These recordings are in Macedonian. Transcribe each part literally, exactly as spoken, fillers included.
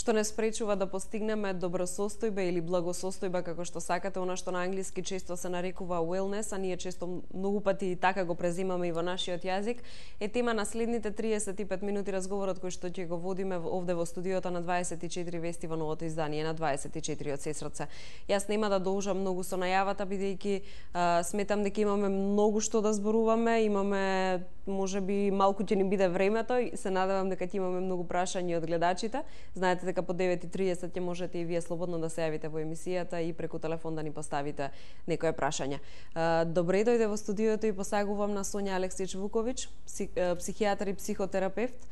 што не спречува да постигнеме добросостојба или благосостојба, како што сакате, она што на англиски често се нарекува wellness, а ние често многу пати и така го презимаме и во нашиот јазик, е тема на следните триесет и пет минути разговорот кој што ќе го водиме овде во студиото на дваесет и четири вести во новото издание на дваесет и четири од Сесрце. Јас нема да должам многу со најавата, бидејќи сметам дека имаме многу што да зборуваме, имаме можеби малку ќе ни биде времето и се надевам дека ќе имаме многу прашања од гледачите. Знаете дека по девет и триесет ќе можете и вие слободно да се јавите во емисијата и преку телефон да ни поставите некое прашање. Добре дојде во студиото и посагувам на Сонја Алексич Вуковиќ, психијатар и психотерапевт.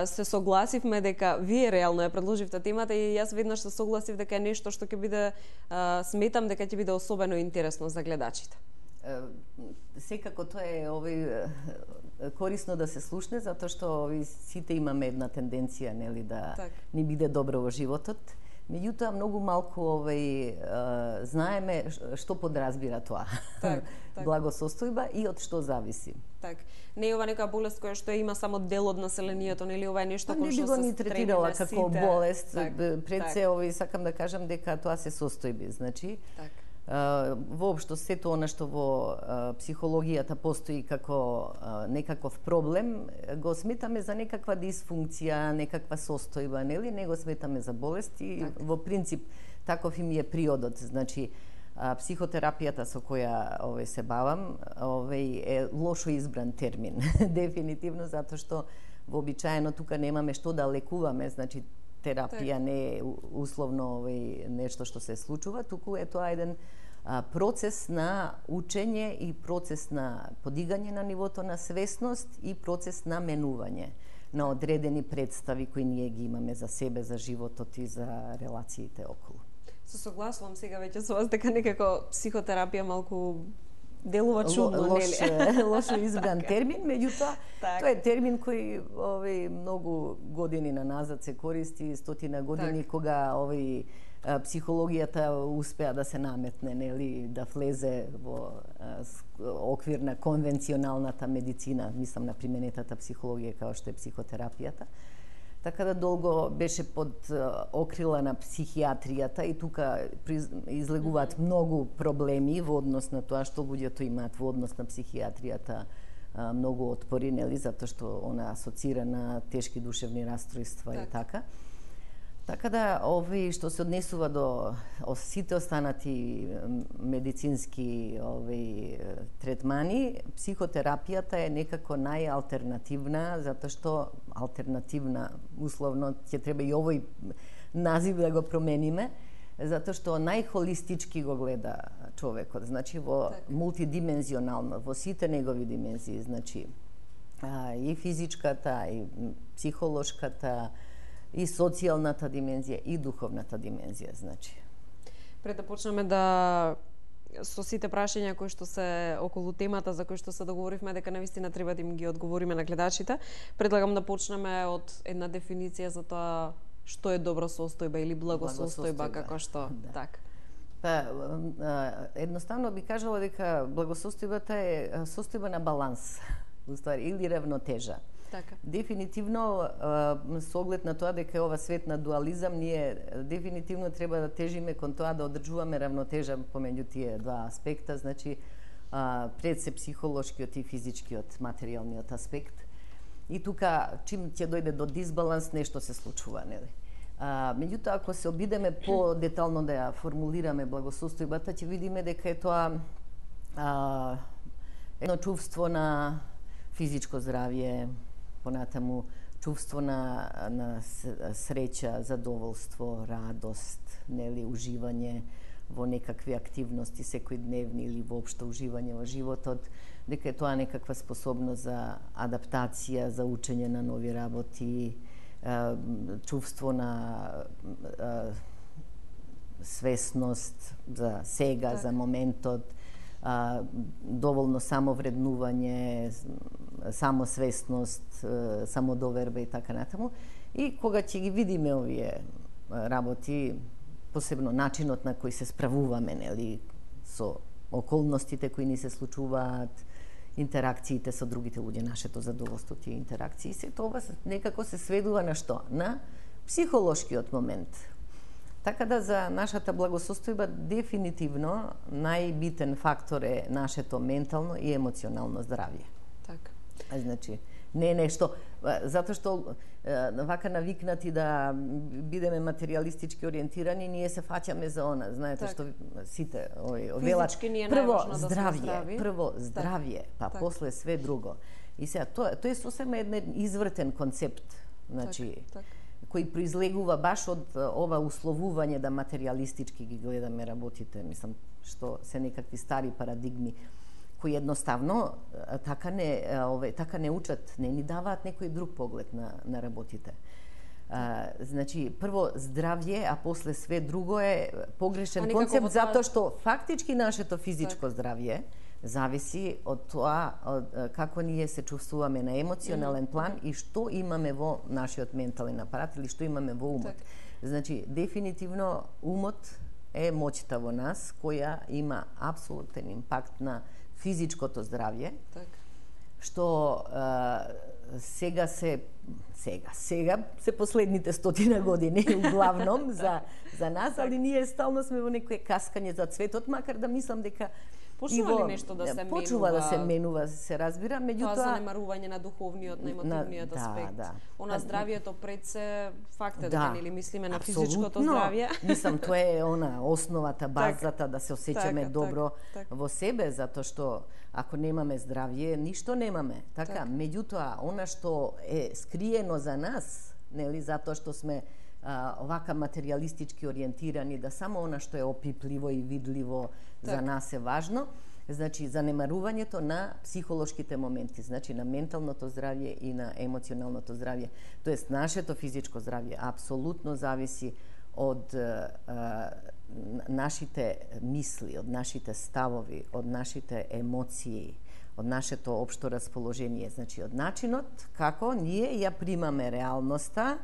Се согласивме дека вие реално ја предложивте темата и јас веднаш се согласив дека е нешто што ќе биде, сметам дека ќе биде особено интересно за гледачите. Секако тоа е овој корисно да се слушне, затоа што овој сите имаме една тенденција, нели, да так. ни биде добро во животот. Меѓутоа многу малку овој знаеме што подразбира тоа. Так, так. Благосостојба и од што зависи. Так. Не е ова нека болест која што има само дел од населението, нели, ова е нешто кој што се ни третирала како сите. болест. Так, Пред так. се овој сакам да кажам дека тоа се состојби, значи. Так. Uh, воопшто сето она што во uh, психологијата постои како uh, некаков проблем, го сметаме за некаква дисфункција, некаква состојба, нели? Не го сметаме за болест и так. Во принцип таков им е приодот. Значи, uh, психотерапијата со која овој се бавам, овој е лошо избран термин, дефинитивно, затоа што вообичаено тука немаме што да лекуваме, значи терапија так. не е условно овој нешто што се случува, туку е тоа еден а, процес на учење и процес на подигање на нивото на свесност и процес на менување на одредени представи кои ние ги имаме за себе, за животот и за релациите околу. Се согласувам сега веќе со вас дека некако психотерапија малку делува чудно, лош, нели? Лошо избран термин, меѓутоа так. тоа е термин кој овој многу години на назад се користи, стотина години, так. кога овој психологијата успеа да се наметне, нели, да влезе во оквир на конвенционалната медицина, мислам на применетата психологија како што е психотерапијата. Така да долго беше под окрила на психијатријата и тука излегуваат mm-hmm. многу проблеми во однос на тоа што луѓето имаат во однос на психијатријата, многу отпори, нели, затоа што она асоцира на тешки душевни расстройства так. и така. Така да, овој што се однесува до сите останати медицински овој третмани, психотерапијата е некако најалтернативна, затоа што алтернативна, условно, ќе треба и овој назив да го промениме, затоа што најхолистички го гледа човекот, значи во так. мултидимензионално, во сите негови димензии, значи и физичката, и психолошката, и социјалната димензија, и духовната димензија, значи. Пред да почнеме да со сите прашања кои што се околу темата за кои што се договоривме дека навистина треба да им ги одговориме на гледачите, предлагам да почнеме од една дефиниција за тоа што е добросостојба или благосостојба, како што, да. так. Па, едноставно би кажала дека благосостојбата е состојба на баланс, уствари, или равнотежа. Така. Дефинитивно, со оглед на тоа дека е ова свет на дуализам, ние дефинитивно треба да тежиме кон тоа да одржуваме равнотежа помеѓу тие два аспекта, значи пред се психолошкиот и физичкиот, материјалниот аспект. И тука, чим ќе дојде до дисбаланс, нешто се случува, нели? А, меѓутоа, ако се обидеме по-детално да ја формулираме благосостојбата, ќе видиме дека е тоа а, едно чувство на физичко здравје, понатаму чувство на, на среќа, задоволство, радост, нели, уживање во некакви активности секојдневни или воопшто уживање во животот, дека е тоа некаква способност за адаптација, за учење на нови работи, чувство на свесност за сега, за моментот, а, доволно самовреднување, самосвесност, самодоверба и така натаму. И кога ќе ги видиме овие работи, посебно начинот на кој се справуваме, нели, со околностите кои ни се случуваат, интеракциите со другите луѓе, нашето задоволство, тие интеракции, се тоа некако се сведува на што? На психолошкиот момент. Така да за нашата благосостојба дефинитивно најбитен фактор е нашето ментално и емоционално здравје. Така. Значи, не е нешто, затоа што вака навикнати да бидеме материјалистички ориентирани, ние се фаќаме за она, знаете так. што сите овој велат прво да здравје, прво так. здравје, па так. После све друго. И сега тоа тоа е сосема еден извртен концепт, значи так, так. кој произлегува баш од ова условување да материјалистички ги гледаме работите, мислам што се некакви стари парадигми кои едноставно така не ове така не учат, не ни даваат некој друг поглед на на работите. А, значи прво здравје, а после све друго е погрешен концепт тоа... затоа што фактички нашето физичко так. здравје зависи од тоа од, како ние се чувствуваме на емоционален план и што имаме во нашиот ментален апарат или што имаме во умот. Так. Значи дефинитивно умот е моќта во нас која има апсолутен импакт на физичкото здравје. Так. Што е, сега се сега сега се последните стотина години главном за за нас, али ние стално сме во некое каскање за цветот, макар да мислам дека почнува ли нешто да се почува менува? Почнува да се менува, се разбира, меѓутоа тоа занемарување на духовниот, на емотивниот на, аспект. Да, да. Она здравјето пред се факт е да, дека нели мислиме на физичкото здравје. Мислам тоа е она основата, базата да се осеќаме така, добро так, так. во себе, затоа што ако немаме здравје, ништо немаме. Така, так. Меѓутоа она што е скриено за нас, нели, затоа што сме а, овака материјалистички ориентирани, да само она што е опипливо и видливо так. За нас е важно, значи занемарувањето на психолошките моменти, значи на менталното здравје и на емоционалното здравје. Тоест нашето физичко здравје апсолутно зависи од а, нашите мисли, од нашите ставови, од нашите емоции, од нашето општо расположение, значи од начинот како ние ја примаме реалноста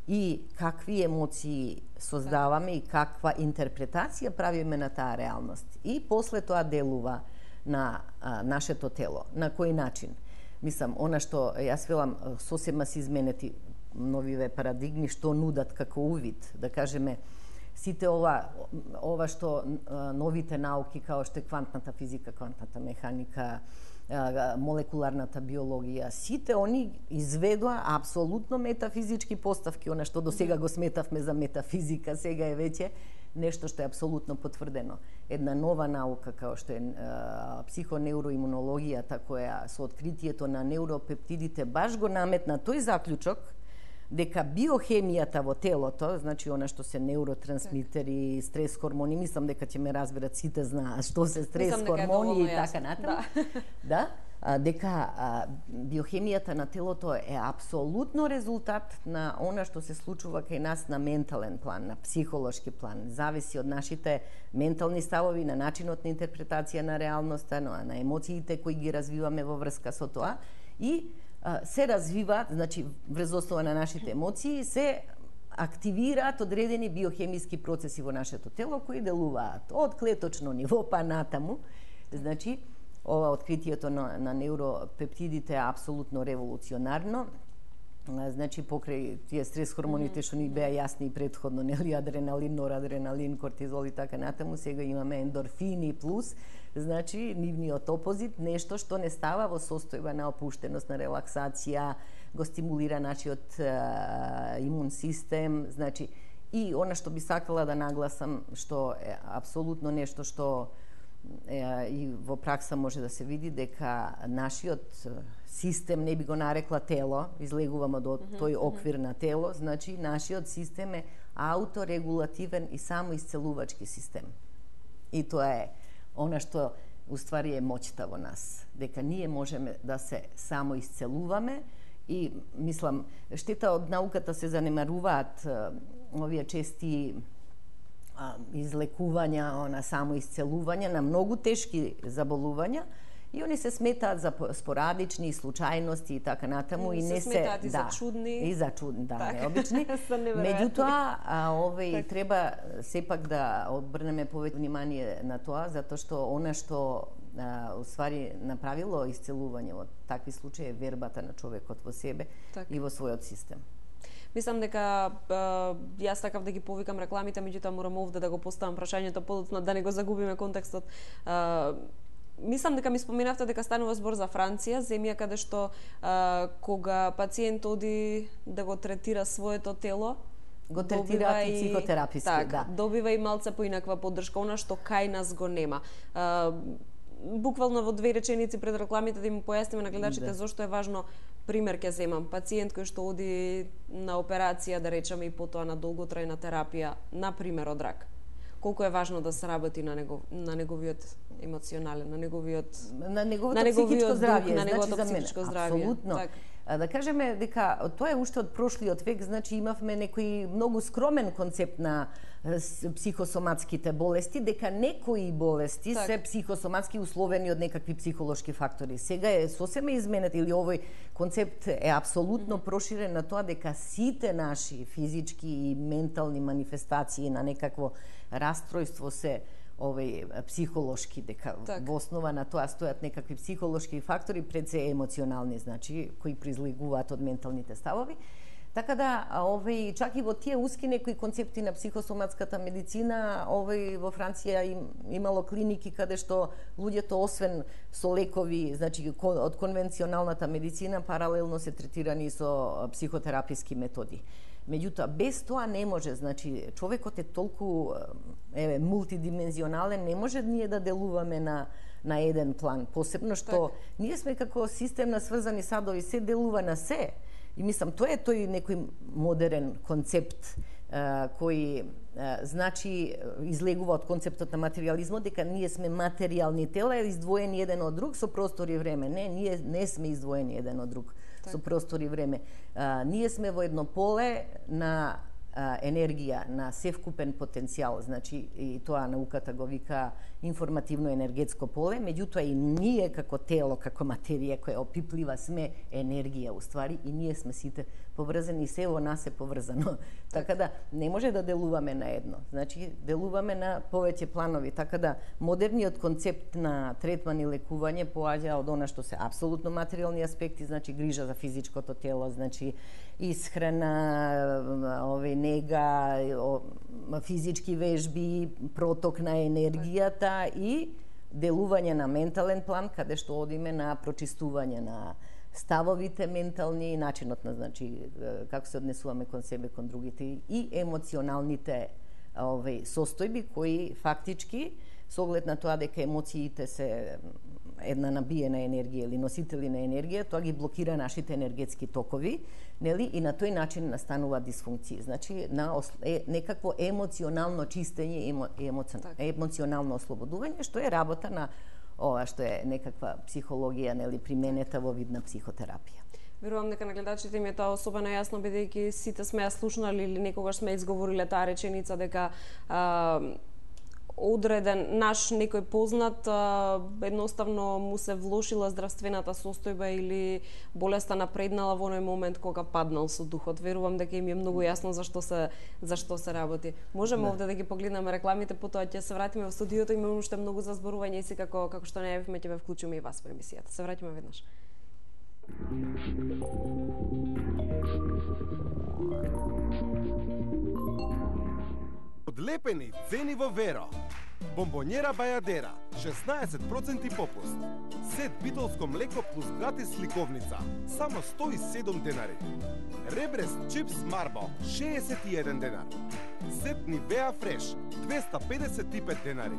и какви емоции создаваме и каква интерпретација правиме на таа реалност. И после тоа делува на а, нашето тело. На кој начин? Мислам, она што јас велам сосема се изменети новиве парадигми што нудат како увид, да кажеме сите ова ова што а, новите науки као што е квантната физика, квантната механика, молекуларната биологија, сите они изведоа апсолутно метафизички поставки, она што до сега го сметавме за метафизика, сега е веќе нешто што е апсолутно потврдено. Една нова наука као што е психонеуроимунологијата, која со откритието на неуропептидите баш го наметна тој заклучок дека биохемијата во телото, значи она што се неуротрансмитери, стрес хормони, мислам дека ќе ме разберат сите знаат што се стрес хормони и така натаму. Да. Да, дека а, биохемијата на телото е апсолутно резултат на она што се случува кај нас на ментален план, на психолошки план. Зависи од нашите ментални ставови, на начинот на интерпретација на реалноста, на, на емоциите кои ги развиваме во врска со тоа и се развиваат, значи врз основа на нашите емоции се активираат одредени биохемиски процеси во нашето тело кои делуваат од клеточно ниво па натаму. Значи ова откритието на, на неуропептидите е апсолутно револуционарно. Значи покрај тие стрес хормоните што ни беа јасни и претходно, нели, адреналин, норадреналин, кортизол и така натаму, сега имаме ендорфини плюс, значи нивниот опозит, нешто што не става во состојба на опуштеност, на релаксација, го стимулира нашиот а, имун систем, значи и она што би сакала да нагласам, што е апсолутно нешто што е, и во пракса може да се види, дека нашиот систем, не би го нарекла тело, излегувам од тој оквир на тело, значи нашиот систем е ауторегулативен и самоисцелувачки систем. И тоа е она што уствари е моќта во нас, дека ние можеме да се самоисцелуваме и мислам, штета од науката се занемаруваат овие чести а, излекувања, она самоисцелување на многу тешки заболувања, и они се сметаат за спорадични, случајности и така натаму и, и не се сметаат и да, за чудни. И за чудни, да, так. необични. Меѓутоа, овој так. Треба сепак да обрнеме повеќе внимание на тоа, затоа што она што а, уствари направило исцелување во такви случаи е вербата на човекот во себе так. И во својот систем. Мислам дека јас сакав да ги повикам рекламите, меѓутоа морам овде да го поставам прашањето подоцна да не го загубиме контекстот. Мислам дека ми споменавте дека станува збор за Франција, земја каде што а, кога пациент оди да го третира своето тело, го третираат и психотераписки, так, да. Добива и малце поинаква поддршка, она што кај нас го нема. А, буквално во две реченици пред рекламите да им појасниме на гледачите да. Зошто е важно. Пример ќе земам, пациент кој што оди на операција, да речеме, и потоа на долготрајна терапија, на пример од рак. Колку е важно да се работи на него, на неговиот емоционален, на неговиот на неговото на психичко здравје, на неговото значи психичко здравје. Апсолутно. Так. Да кажеме дека тоа е уште од прошлиот век, значи имавме некој многу скромен концепт на психосоматските болести, дека некои болести так. се психосоматски условени од некакви психолошки фактори. Сега е сосема изменет или овој концепт е апсолутно mm -hmm. проширен на тоа дека сите наши физички и ментални манифестации на некакво растројство се овој психолошки, дека так. Во основа на тоа стојат некакви психолошки фактори, пред се емоционални, значи, кои произлегуваат од менталните ставови. Така да, овој, чак и во тие уски некои концепти на психосоматската медицина, овој во Франција им, имало клиники каде што луѓето освен со лекови, значи од конвенционалната медицина, паралелно се третирани со психотераписки методи. Меѓутоа, без тоа не може, значи, човекот е толку еве, мултидимензионален, не може ние да делуваме на, на еден план. Посебно што так. Ние сме како систем на сврзани садови, се делува на се. И мислам, тоа е тој некој модерен концепт а, кој а, значи излегува од концептот на материјализмот, дека ние сме материјални тела, издвоени еден од друг со простор и време. Не, ние не сме издвоени еден од друг так. Со простор и време. А, ние сме во едно поле на а, енергија, на севкупен потенцијал, значи и тоа науката го вика информативно-енергетско поле, меѓутоа и ние како тело, како материја која опиплива сме енергија уствари и ние сме сите поврзани и се во нас е поврзано. Така да не може да делуваме на едно. Значи делуваме на повеќе планови. Така да модерниот концепт на третман и лекување поаѓа од она што се апсолутно материјални аспекти, значи грижа за физичкото тело, значи исхрана, овој нега, физички вежби, проток на енергијата и делување на ментален план, каде што одиме на прочистување на ставовите ментални, начинот на, значи, како се однесуваме кон себе, кон другите и емоционалните овој состојби кои фактички со оглед на тоа дека емоциите се една набиена енергија или носители на енергија, тоа ги блокира нашите енергетски токови, нели, и на тој начин настанува дисфункции. Значи на е, некакво емоционално чистење, емо, емоци, так. емоционално ослободување, што е работа на ова што е некаква психологија, нели, применета во вид на психотерапија. Верувам дека на гледачите им е тоа особено јасно, бидејќи сите сме ја слушнали или некогаш сме изговориле таа реченица дека а, одреден наш некој познат а, едноставно му се влошила здравствената состојба или болеста напреднала во оној момент кога паднал со духот. Верувам дека им е многу јасно зашто се зашто се работи. Можеме да. Овде да ги погледнеме рекламите, потоа ќе се вратиме во студиото, имаме уште многу за зборување и си како како што најавивме ќе ве вклучиме и вас во емисијата. Се враќаме веднаш. Одлепени цени во Веро. Бомбонјера Бајадера, шеснаесет проценти попуст. Сет битолско млеко плюс гратис сликовница, само сто и седум денари. Ребрес чипс Марбо, шеесет и еден денар. Сет Нивеа Фреш, двеста педесет и пет денари.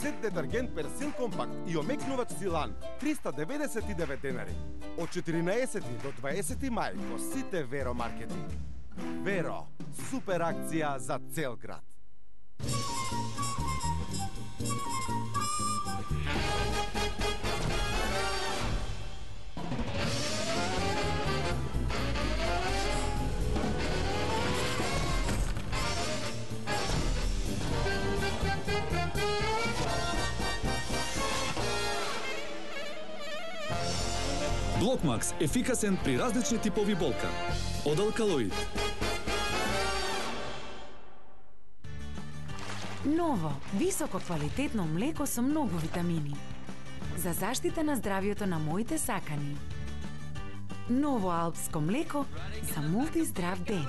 Сет детергент Персил Компакт и омекнувач Силан, триста деведесет и девет денари. Од четиринаесети до дваесети мај во сите Веро маркети. Веро, супер акција за цел град. Блокмакс ефикасен при различни типови болка. Од алкалоид. Ново, високо квалитетно млеко со многу витамини. За заштита на здравјето на моите сакани. Ново алпско млеко за мултиздрав ден.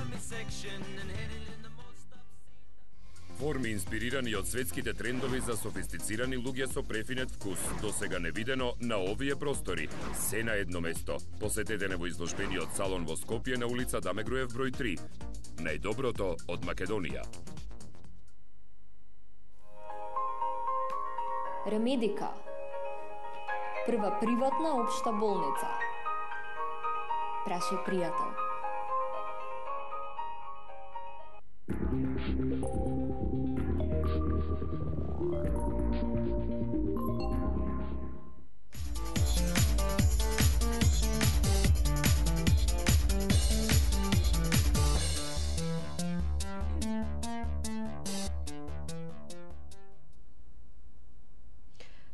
Форми инспирирани од светските трендови за софистицирани луѓе со префинет вкус, досега невидено на овие простори. Се на едно место. Посетете не во изложбениот салон во Скопје на улица Даме Груев број три. Најдоброто од Македонија. Ремедика. Прва приватна општа болница. Прашај пријател.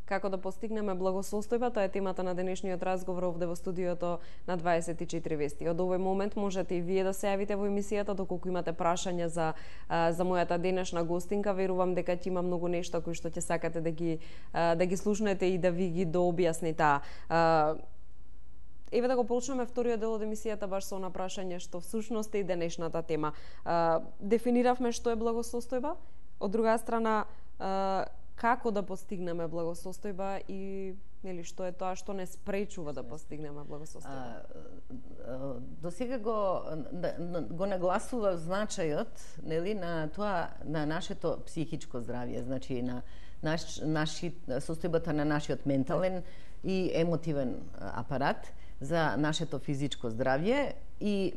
Како да постигнеме благосостојба, тоа е темата на денешниот разговор овде во студиото на дваесет и четири вести. Од овој момент можете и вие да се јавите во емисијата, доколку имате прашања за за мојата денешна гостинка. Верувам дека ќе има многу нешта кои што ќе сакате да ги да ги слушнете и да ви ги дообјасни таа. Еве да го почнеме вториот дел од емисијата баш со она прашање што всушност е и денешната тема. Дефиниравме што е благосостојба, од друга страна како да постигнеме благосостојба и нели што е тоа што не спречува да постигнеме благосостојба. До сега го го нагласува значајот нели на тоа на нашето психичко здравје, значи на наш наши состојбата на нашиот ментален и емотивен апарат за нашето физичко здравје и е,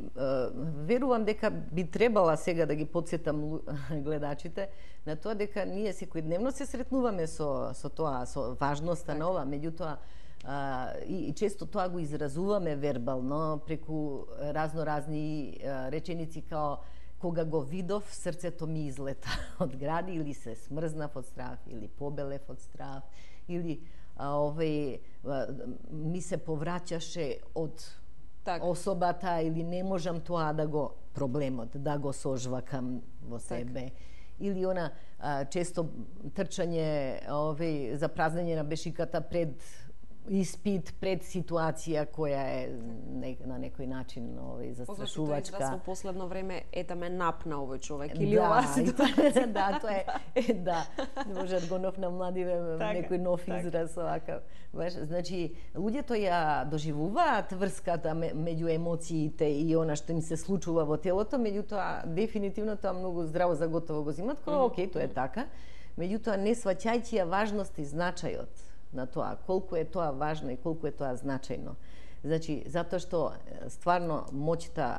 верувам дека би требала сега да ги подсетам гледачите на тоа дека ние секојдневно се сретнуваме со со тоа, со важноста так. на ова, меѓутоа а, и, и често тоа го изразуваме вербално преку разно-разни а, реченици као кога го видов, срцето ми излета од гради или се смрзнав од страв или побелев од страв или а, овој а, ми се повраќаше од так. особата или не можам тоа да го проблемот да го сожвакам во себе. Так. Или она а, често трчање овој за празнење на бешиката пред испит, пред ситуација која е не, на некој начин овој застрашувачка. Позначи во последно време ета ме напна овој човек или да, ова ситуација. Да, тоа е, е да. Може го нов на младиве некој нов так. израз овака. Баш, значи луѓето ја доживуваат врската меѓу емоциите и она што им се случува во телото, меѓутоа дефинитивно тоа многу здраво за готово го земат, кога mm -hmm. окей, тоа е така. Меѓутоа не сваќајќи ја важност и значајот на тоа, колку е тоа важно и колку е тоа значајно. Значи, затоа што стварно моќта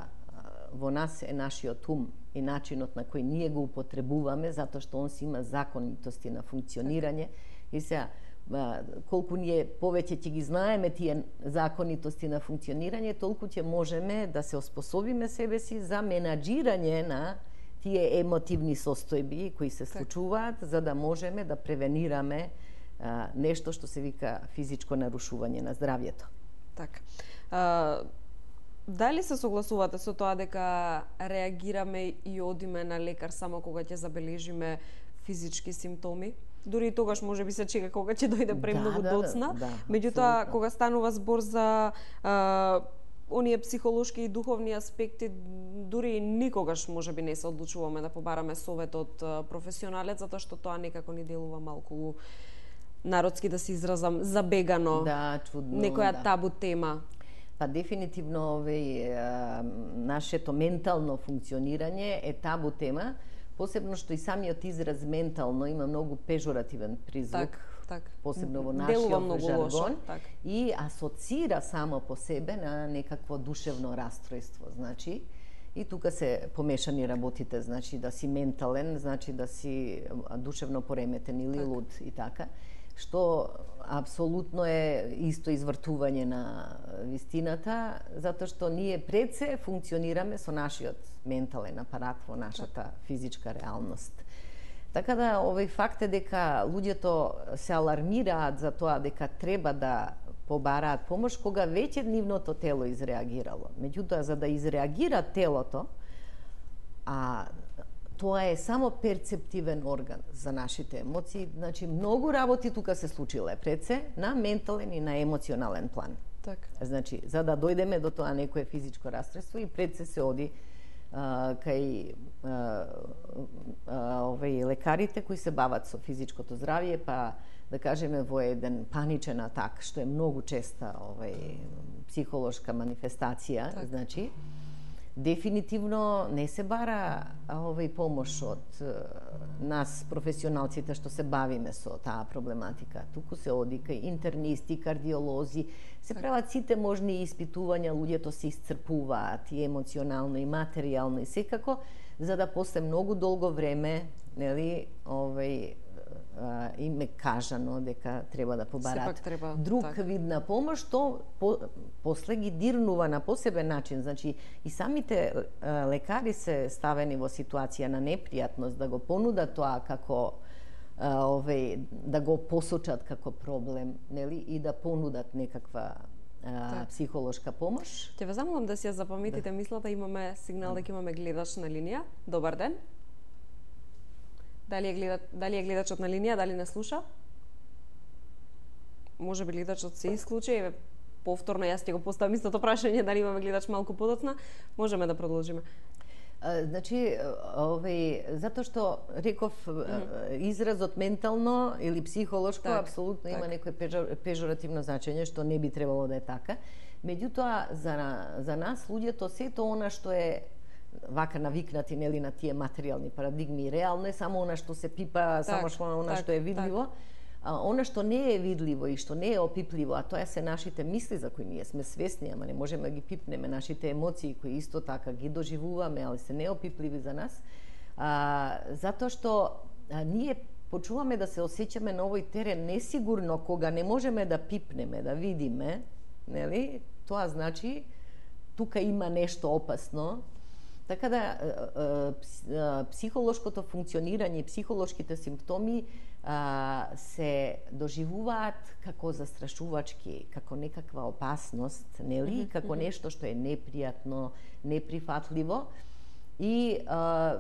во нас е нашиот ум и начинот на кој ние го употребуваме, затоа што он си има законитости на функционирање и сега колку ние повеќе ќе ги знаеме тие законитости на функционирање, толку ќе можеме да се оспособиме себе си за менаџирање на тие емотивни состојби кои се случуваат, за да можеме да превенираме а, нешто што се вика физичко нарушување на здравјето. Така. А, дали се согласувате со тоа дека реагираме и одиме на лекар само кога ќе забележиме физички симптоми? Дури и тогаш може би се чека кога ќе дојде премногу да, доцна. Да, да, меѓутоа, кога станува збор за а, оние психолошки и духовни аспекти, дури никогаш може би не се одлучуваме да побараме совет од професионалец, затоа што тоа некако ни делува малку народски да се изразам забегано. Да, чудно. Некоја да. табу тема. Па дефинитивно овој нашето ментално функционирање е табу тема, посебно што и самиот израз ментално има многу пежоративен призвук. Так, так. Посебно во нашиот жаргон лошо, так. И асоцира само по себе на некакво душевно растројство, значи и тука се помешани работите, значи да си ментален, значи да си душевно пореметен или так. луд и така, што апсолутно е исто извртување на вистината, затоа што ние пред се функционираме со нашиот ментален апарат во нашата так. физичка реалност. Така да овој факт е дека луѓето се алармираат за тоа дека треба да побараат помош кога веќе нивното тело изреагирало. Меѓутоа, за да изреагира телото, а тоа е само перцептивен орган за нашите емоции, значи многу работи тука се случиле пред се на ментален и на емоционален план. Така. Значи, за да дојдеме до тоа некое физичко расстройство и пред се се оди а, кај а, а, овие лекарите кои се бават со физичкото здравје, па да кажеме во еден паничен атак, што е многу честа овај психолошка манифестација, так. Значи дефинитивно не се бара овај помош од нас професионалците што се бавиме со таа проблематика. Туку се оди кај интернисти, кардиолози, се прават сите можни испитувања, луѓето се исцрпуваат и емоционално и материјално и секако, за да после многу долго време, нели, овај им е кажано дека треба да побарат треба, друг так. вид на помош, што по, после ги дирнува на посебен начин. Значи, и самите лекари се ставени во ситуација на непријатност да го понудат тоа како овој, да го посочат како проблем, нели, и да понудат некаква а, психолошка помош. Ќе ве замолам да си ја запаметите да. Мислата, имаме сигнал дека имаме гледач на линија. Добар ден. Дали е, гледа, дали е гледачот на линија, дали не слуша? Може би гледачот се исклучи, еве повторно јас ќе го поставам истото прашање, дали имаме гледач малку подоцна, можеме да продолжиме. А, значи, овој, затоа што реков mm-hmm. изразот ментално или психолошко, так, апсолутно так. Има некое пежоративно значење, што не би требало да е така. Меѓутоа, за, за нас, луѓето, сето она што е вака навикнати, нели, на тие материјални парадигми, реално е само она што се пипа, так, само што она так, што е видливо, так. А она што не е видливо и што не е опипливо, а тоа се нашите мисли за кои ние сме свесни, ама не можеме да ги пипнеме, нашите емоции кои исто така ги доживуваме, али се неопипливи за нас, а, затоа што а, ние почуваме да се осеќаме на овој терен несигурно кога не можеме да пипнеме, да видиме, нели? Тоа значи тука има нешто опасно. Така да психолошкото функционирање и психолошките симптоми а, се доживуваат како застрашувачки, како некаква опасност, нели? Mm-hmm. Како нешто што е непријатно, неприфатливо. И а,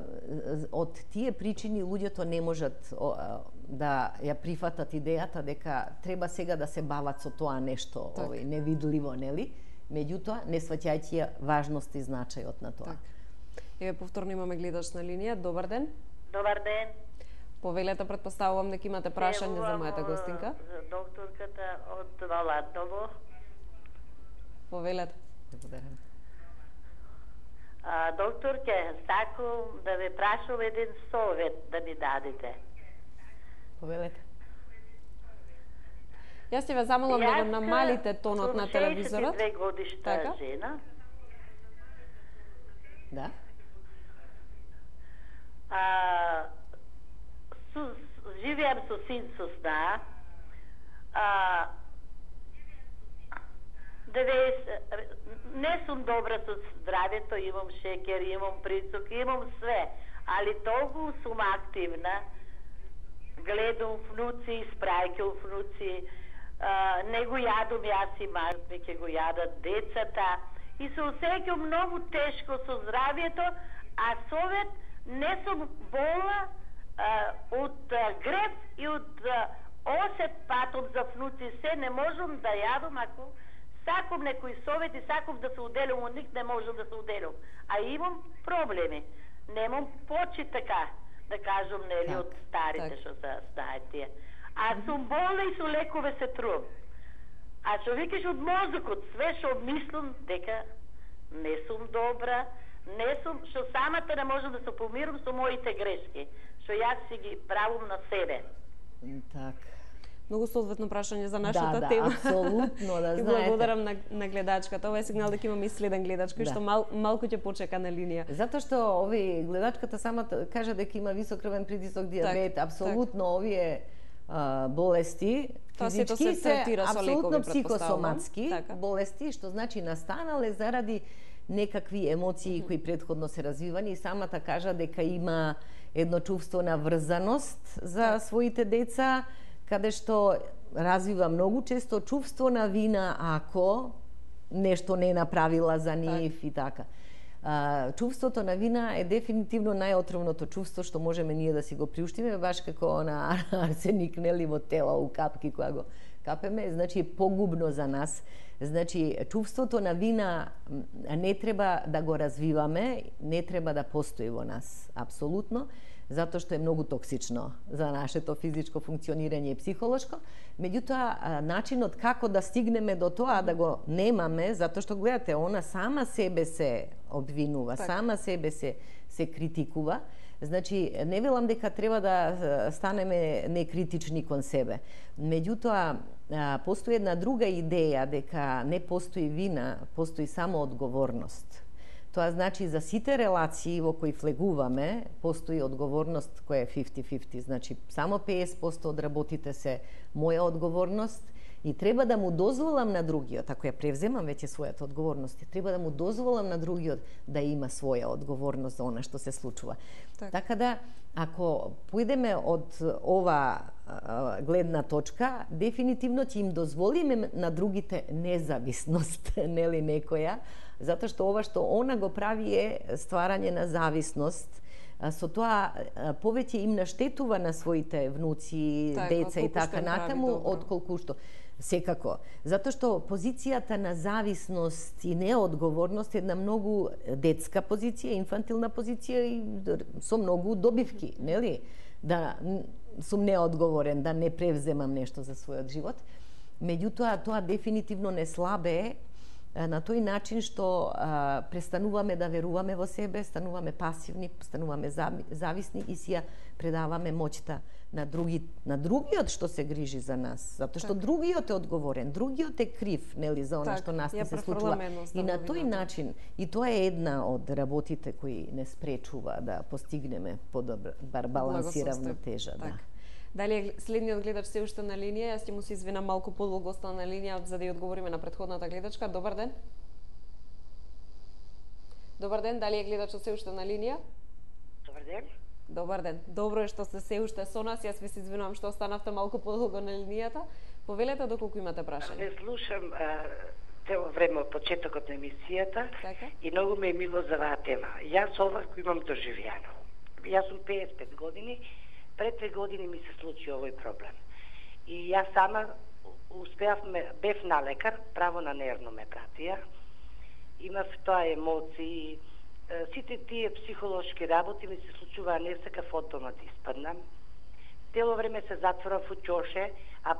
од тие причини луѓето не можат а, да ја прифатат идејата дека треба сега да се бават со тоа нешто, так. Овој невидливо, нели? Меѓутоа, не сваќајќи важност и значајот на тоа. Так. Еве повторно имаме гледач на линија. Добар ден. Добар ден. Повелете, претпоставувам дека имате прашање за мојата гостинка. Докторката од Валатово. Повелете. Благодарам. А, докторке, сакам да ве прашам еден совет да ми дадете. Повелете. Јас ќе ве замолам да го намалите тонот на телевизорот. Јас сум шеесет и две годишна така? Жена. Да. А, су, живеам со син со сна. А, деветдесет, не сум добра со здравјето, имам шекер, имам присок, имам све, али толку сум активна. Гледам внуци, испраќам внуци, а, не го јадам јас и мажми, ќе го јадат децата. И се осеќам многу тешко со здравјето, а совет не сум болна а, од а, греб и од а, осет патом за внуци, се не можам да јадам, ако сакам некој совет и сакам да се уделам, од ник не можам да се уделам. А имам проблеми. Немам почи така, да кажам, нели, од старите што се знаат тие. А сум болна и со лекове се трувам. А што викаш од мозокот, све што мислам дека не сум добра, не сум, што самата не можам да се помирам со моите грешки, што јас си ги правам на себе. Так. Многу соодветно прашање за нашата да, тема. Да, апсолутно, да знаете. И благодарам на, на гледачката. Ова е сигнал дека имаме и следен гледач кој да. Што мал, малку ќе почека на линија. Затоа што овие гледачката самата кажа дека има висок крвен притисок, дијабет, так, апсолутно так. Овие а, болести физички се, се апсолутно психосоматски така. Болести, што значи настанале заради некакви емоции кои претходно се развивани и самата кажа дека има едно чувство на врзаност за так. Своите деца, каде што развива многу често чувство на вина ако нешто не направила за нив так. И така. А, чувството на вина е дефинитивно најотровното чувство што можеме ние да си го приуштиме, баш како на арсеник, нели, во тело, у капки, која го Капеме? Значи, погубно за нас. Значи, чувството на вина не треба да го развиваме, не треба да постои во нас, апсолутно, затоа што е многу токсично за нашето физичко функционирање и психолошко. Меѓутоа, начинот како да стигнеме до тоа да го немаме, затоа што гледате, она сама себе се обвинува, так. сама себе се се критикува. Значи, не велам дека треба да станеме некритични кон себе. Меѓутоа, постои една друга идеја дека не постои вина, постои само одговорност. Тоа значи за сите релации во кои влегуваме, постои одговорност која е фифти фифти. Значи, само петдесет проценти од работите се моја одговорност и треба да му дозволам на другиот, ако ја превземам веќе својата одговорност, треба да му дозволам на другиот да има своја одговорност за она што се случува. Так. Така да, ако поидеме од ова а, гледна точка, дефинитивно ќе им дозволиме на другите независност, нели некоја, затоа што ова што она го прави е стварање на зависност. Со тоа повеќе им наштетува на своите внуци, так, деца и така натаму, отколку што секако. Затоа што позицијата на зависност и неодговорност е една многу детска позиција, инфантилна позиција и со многу добивки, нели? Да сум неодговорен, да не превземам нешто за својот живот. Меѓутоа, тоа дефинитивно не слабее на тој начин што а, престануваме да веруваме во себе, стануваме пасивни, стануваме зависни и си ја предаваме моќта на други, на другиот што се грижи за нас, затоа што так. Другиот е одговорен, другиот е крив, нели, за она так, што нас не се случува. И на тој начин, и тоа е една од работите кои не спречува да постигнеме подобар баланс и равнотежа, да. Дали следниот гледач се уште на линија? Јас ќе му се извинам, малку подолго остана на линија за да ја одговориме на претходната гледачка. Добар ден. Добар ден, дали е гледачот се уште на линија? Добар ден. Добар ден. Добро е што сте се уште со нас. Јас ви се извинувам што останавте малку подолго на линијата. Повелете доколку имате прашање. Не слушам а, цело време од почетокот на емисијата така? И многу ме е мило за оваа тема. Јас ова кој имам доживјано. Јас сум петдесет и пет години. Пред две години ми се случи овој проблем. И јас сама успеав, бев на лекар, право на нервно ме пратија. Имав тоа емоции, сите тие психолошки работи ми се случуваа, не сакав одма да испаднам. Цело време се затворав во ќоше, а,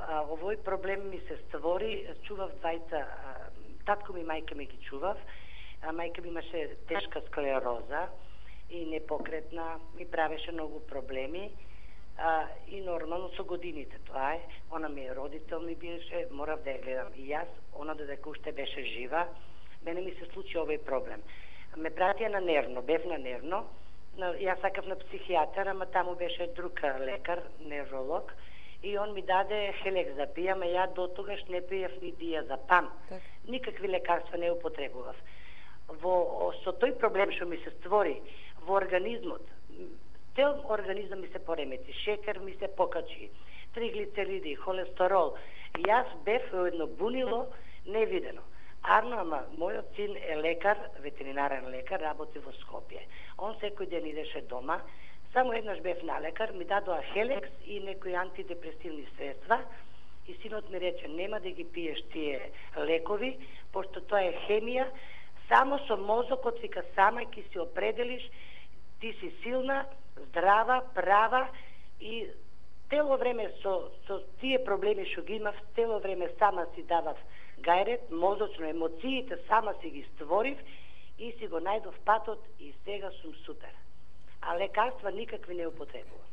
а овој проблем ми се створи, чував двајца, татко ми и мајка ми ги чував, а мајка ми имаше тешка склероза и непокретна, ми правеше многу проблеми а, и нормално со годините тоа е. Она ми е родител ми беше, морав да ја гледам и јас, она додека уште беше жива, мене ми се случи овој проблем. Ме пратија на нервно, бев на нервно, на, јас сакав на психијатар, ама таму беше друг лекар, невролог, и он ми даде хелекс да пијам, а ја до тогаш не пијав ни диазепам. Так. Никакви лекарства не употребував. Во, со тој проблем што ми се створи во организмот, цел организам ми се поремети, шекер ми се покачи, триглицериди, холестерол. Јас бев во едно бунило невидено. Арно, ама мојот син е лекар, ветеринарен лекар, работи во Скопје. Он секој ден идеше дома, само еднаш бев на лекар, ми дадоа хелекс и некои антидепресивни средства и синот ми рече, нема да ги пиеш тие лекови, пошто тоа е хемија, само со мозокот, вика, сама ќе си определиш, ти си силна, здрава, права и цело време со, со тие проблеми што ги имав, цело време сама си давав гајрет, мозочно, емоциите сама си ги створив и си го најдов патот и сега сум супер. А лекарства никакви не употребувам.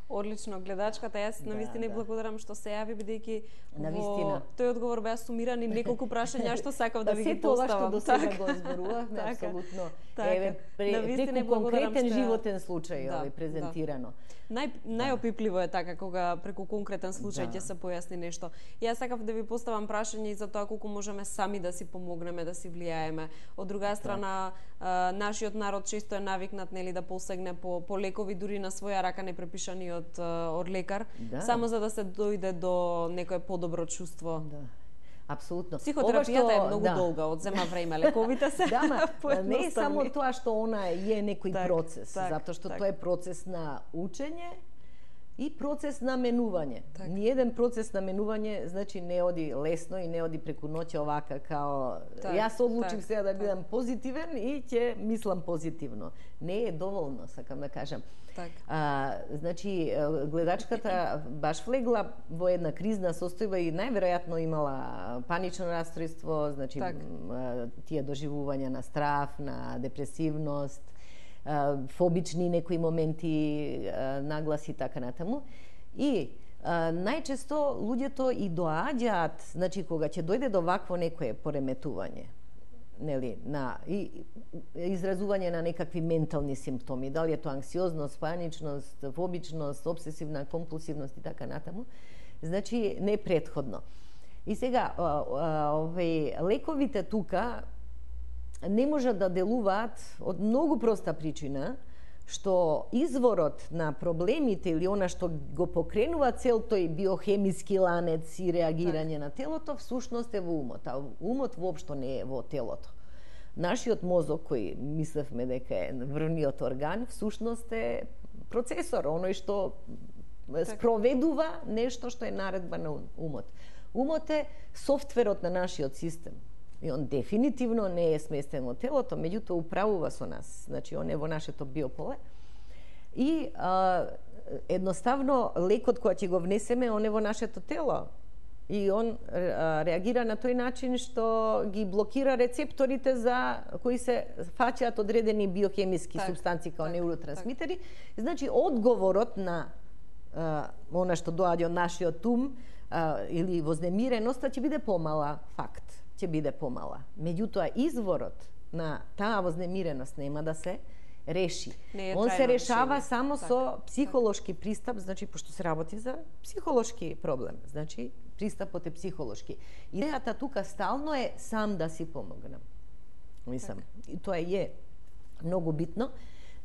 Одлично, гледачката, јас да, навистина да. благодарам што се јави, бидејќи во тој одговор беа сумирани неколку прашања што сакав да ви ги Се тоа поставам. што до сега го зборувавме, апсолутно. Еве, преку конкретен животен случај, овој презентирано. Нај, најопипливо е така кога преку конкретен случај ќе да. се појасни нешто. Јас сакав да ви поставам прашање и за тоа колку можеме сами да си помогнеме, да си влијаеме. Од друга страна, а, нашиот народ често е навикнат, нели, да посегне по, по лекови дури на своја рака не препишани од, од лекар, да. само за да се дојде до некое подобро чувство. Да. Апсолутно. Психотерапијата што, е многу да. долга, одзема време, лековите се да, ма, не е само тоа што она е некој так, процес, так, затоа што так. тоа е процес на учење и процес на менување. Так. Ниеден процес на менување, значи, не оди лесно и не оди преку ноќе овака, као так, јас одлучив сега да бидам так. позитивен и ќе мислам позитивно. Не е доволно, сакам да кажам. Так. А, значи, гледачката баш влегла во една кризна состојба и најверојатно имала панично расстройство, значи, так. тие доживувања на страф, на депресивност, фобични некои моменти, нагласи и така натаму. И а, најчесто луѓето и доаѓаат, значи кога ќе дојде до вакво некое пореметување, нели, на и изразување на некакви ментални симптоми, дали е тоа анксиозност, паничност, фобичност, обсесивна компулсивност и така натаму, значи не претходно. И сега овие лековите тука не можат да делуваат од многу проста причина, што изворот на проблемите или она што го покренува цел тој биохемиски ланец и реагирање так. на телото, всушност е во умот, а умот воопшто не е во телото. Нашиот мозок, кој мислевме дека е врвниот орган, всушност е процесор, оној што так. спроведува нешто што е наредба на умот. Умот е софтверот на нашиот систем. И он дефинитивно не е сместен во телото, меѓутоа управува со нас. Значи, он е во нашето биополе. И а, едноставно, лекот кој ќе го внесеме, он е во нашето тело. И он а, реагира на тој начин што ги блокира рецепторите за кои се фаќаат одредени биохемиски так, субстанции као так, неуротрансмитери. Так. Значи, одговорот на а, она што доаѓа од нашиот ум а, или вознемиреноста ќе биде помала, факт. ќе биде помала. Меѓутоа, изворот на таа вознемиреност нема да се реши. Он се решава решение. само так, со психолошки так. пристап, значи, пошто се работи за психолошки проблем. Значи, пристапот е психолошки. Идејата тука стално е сам да си помогнам. Мислам, так. и тоа е многу битно,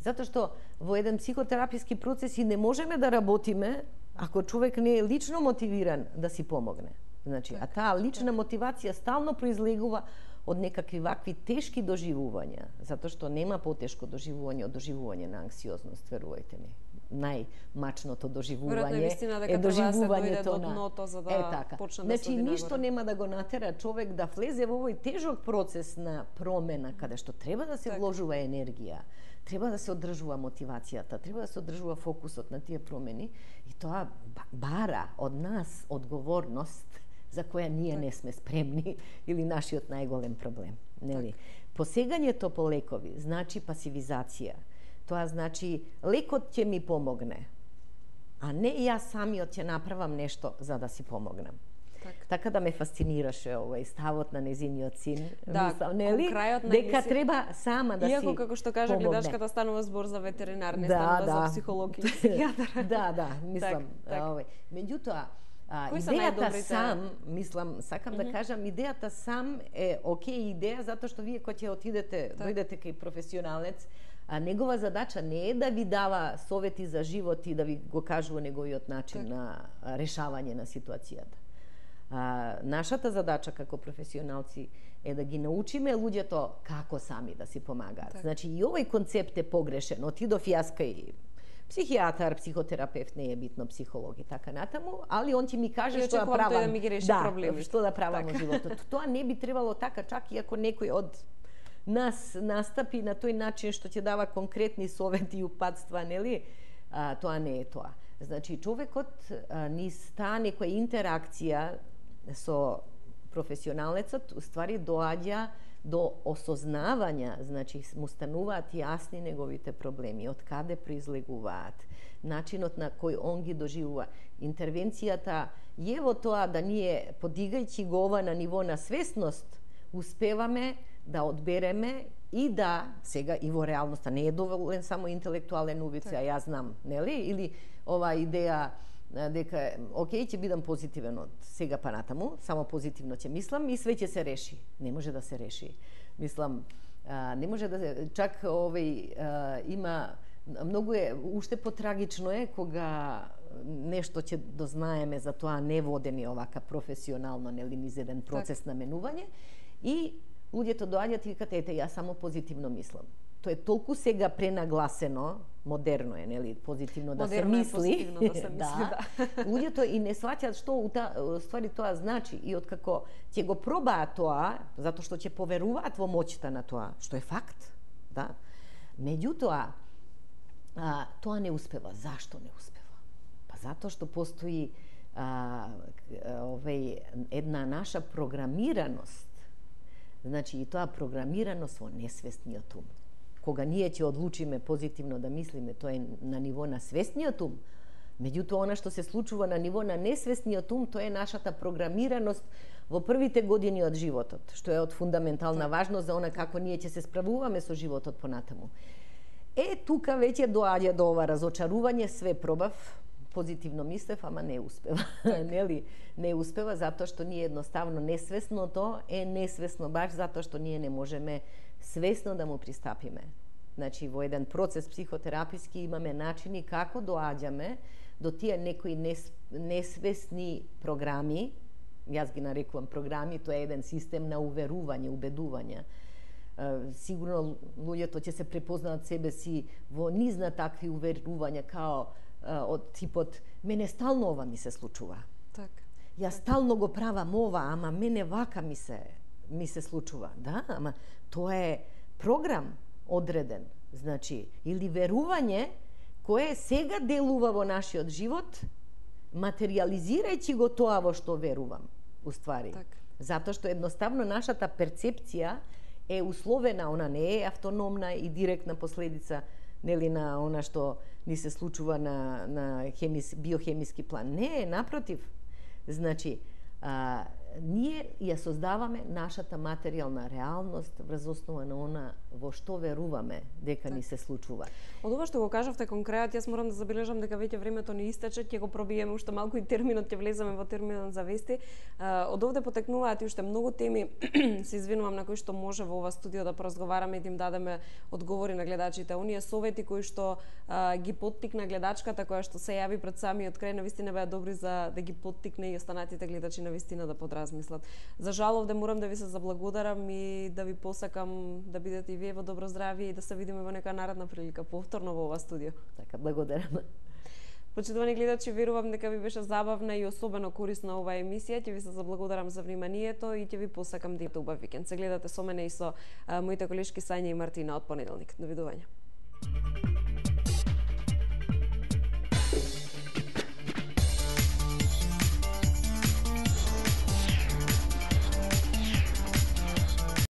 затоа што во еден психотераписки процес и не можеме да работиме ако човек не е лично мотивиран да си помогне. Значи, так, а таа лична так. мотивација стално произлегува од некакви вакви тешки доживувања, затоа што нема потешко доживување од доживување на анксиозност, верувајте ми. Најмачното доживување е доживувањето на дното за да е така. почне значи, да се ништо нема да го натера човек да влезе во овој тежок процес на промена, каде што треба да се так. вложува енергија, треба да се одржува мотивацијата, треба да се одржува фокусот на тие промени и тоа бара од нас одговорност за која ние не сме спремни или нашиот најголем проблем, нели? Посегањето по лекови значи пасивизација. Тоа значи лекот ќе ми помогне, а не јас самиот ќе направам нешто за да си помогнам. Так. Така да ме фасцинираше овој ставот на незиниот син, да, мислам, нели? Крајот на дека емисија... треба сама да Иако, си Иако, како што кажа помогне. гледачката, станува збор за ветеринар, не да, станува да. за психолог или психијатар. да, да, мислам, так, так. овој. Меѓутоа, А, Кои идејата сам, мислам, сакам mm -hmm. да кажам, идејата сам е окей идеја, затоа што вие кога ќе отидете, так. дојдете кај професионалец, а негова задача не е да ви дава совети за живот и да ви го кажува неговиот начин так. на решавање на ситуацијата. А, нашата задача како професионалци е да ги научиме луѓето како сами да си помагаат. Так. Значи, и овој концепт е погрешен. Отидов јас кај психијатар, психотерапевт, не е битно психолог и така натаму, али он ќе ми каже што да правам. Да ми ги реши да, проблемите. што да правам во животот. Тоа не би требало така, чак и ако некој од нас настапи на тој начин што ќе дава конкретни совети и упатства, нели? А, тоа не е тоа. Значи, човекот а, низ таа некоја интеракција со професионалецот, уствари доаѓа до осознавања, значи му стануваат јасни неговите проблеми, од каде произлегуваат, начинот на кој он ги доживува. Интервенцијата е во тоа да ние, подигајќи го ова на ниво на свесност, успеваме да одбереме и да, сега и во реалноста, не е доволен само интелектуален убица, а јас знам, нели? Или ова идеја дека, окей, ќе бидам позитивен од сега па натаму, само позитивно ќе мислам и све ќе се реши. Не може да се реши. Мислам, а, не може да се... Чак овој а, има... Многу е, уште потрагично е кога нешто ќе дознаеме за тоа неводени овака професионално, нели, низ еден процес так. на менување и луѓето доаѓаат и викат, ете, јас само позитивно мислам. тоа е толку сега пренагласено, модерно е, нели, позитивно да модерно се мисли. Модерно е позитивно да се мисли, да. да. Луѓето и не сваќаат што у ствари тоа значи и откако ќе го пробаат тоа, затоа што ќе поверуваат во моќта на тоа, што е факт, да. Меѓутоа, а, тоа не успева. Зашто не успева? Па затоа што постои а, овеј една наша програмираност. Значи и тоа програмираност во несвесниот ум. Кога ние ќе одлучиме позитивно да мислиме, тоа е на ниво на свесниот ум. Меѓутоа, она што се случува на ниво на несвесниот ум, тоа е нашата програмираност во првите години од животот, што е од фундаментална важност за она како ние ќе се справуваме со животот понатаму. Е, тука веќе доаѓа до ова разочарување, све пробав, позитивно мислев, ама не успева. Нели? Не успева затоа што ние едноставно несвесното е несвесно баш затоа што ние не можеме свесно да му пристапиме. Значи, во еден процес психотераписки имаме начини како доаѓаме до тие некои нес, несвесни програми, јас ги нарекувам програми, тоа е еден систем на уверување, убедување. Сигурно луѓето ќе се препознаат себе си во низ на такви уверувања, као од типот мене стално ова ми се случува. Так. Јас стално го правам ова, ама мене вака ми се ми се случува. Да, ама тоа е програм одреден, значи, или верување кое сега делува во нашиот живот, материализирајќи го тоа во што верувам, уствари. Так. Затоа што едноставно нашата перцепција е условена, она не е автономна и директна последица, нели, на она што ни се случува на, на хемис, биохемиски план. Не, напротив. Значи, а, ние ја создаваме нашата материјална реалност врз основа на она во што веруваме дека так. Ни се случува. Од ова што го кажавте конкрет, јас морам да забележам дека веќе времето ни истече, ќе го пробиеме уште малку и терминот, ќе влеземе во терминот за вести. Од овде потекнуваат и уште многу теми, се извинувам, на кои што може во ова студио да поразговараме и да им дадеме одговори на гледачите. Оние совети кои што а, ги поттикна гледачката која што се јави пред самиот крај, навистина беа добри за да ги поттикне и останатите гледачи навистина да подразмислат. За жал, овде морам да ви се заблагодарам и да ви посакам да бидете и вие во добро здравје и да се видиме во нека наредна прилика повторно во ова студио. Така, благодарам. Почитувани гледачи, верувам дека ви беше забавна и особено корисна оваа емисија. Ќе ви се заблагодарам за вниманието и ќе ви посакам да имате убав викенд. Се гледате со мене и со а, моите колешки Сања и Мартина од понеделник. Довидување.